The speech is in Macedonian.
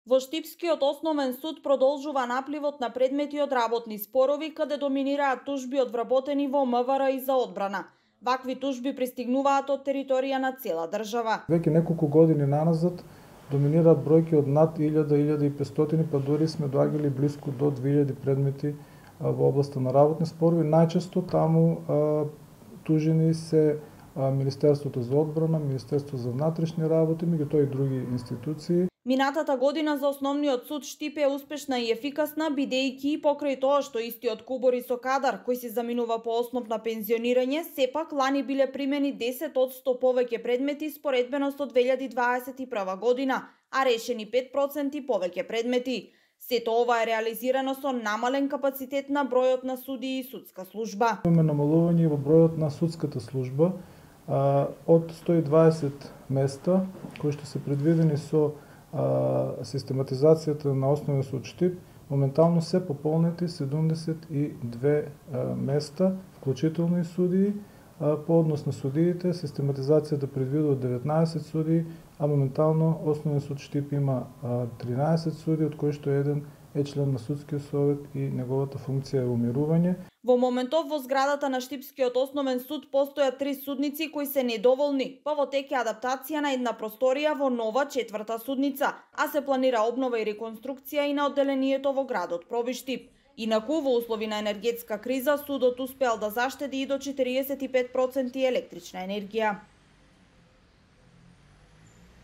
Во Штипскиот основен суд продолжува напливот на предмети од работни спорови, каде доминираат тужби од вработени во МВР и за одбрана. Вакви тужби пристигнуваат од територија на цела држава. Веќе неколку години наназад доминираат бројки од над 1000-1500, па дури сме доаѓали блиску до 2000 предмети во областа на работни спорови. Најчесто таму тужени се Министерството за одбрана, Министерство за внатрешни работи, меѓутоа и други институции. Минатата година за Основниот суд Штип е успешна и ефикасна, бидејќи покрај тоа што истиот кубори со кадар кој се заминува по основ на пензионирање, сепак лани биле примени 10% повеќе предмети споредбено со 2021 година, а решени 5% повеќе предмети. Сето ова е реализирано со намален капацитет на бројот на судии и судска служба. Имаме намалување во бројот на судската служба од 120 места кои што се предвидени со систематизацијата на Основен суд Штип, моментално се пополнети 72 места, вклучително и судии. По однос на судиите, систематизацијата предвидува 19 судии, а моментално Основен суд Штип има 13 судии, од кои што еден е член на судскиот совет и неговата функција е умирување. Во моментов во зградата на Штипскиот основен суд постојат 3 судници кои се недоволни, па во тек е адаптација на една просторија во нова 4-та судница, а се планира обнова и реконструкција и на одделението во градот Проби Штип. Инаку, во услови на енергетска криза, судот успеал да заштеди и до 45% електрична енергија.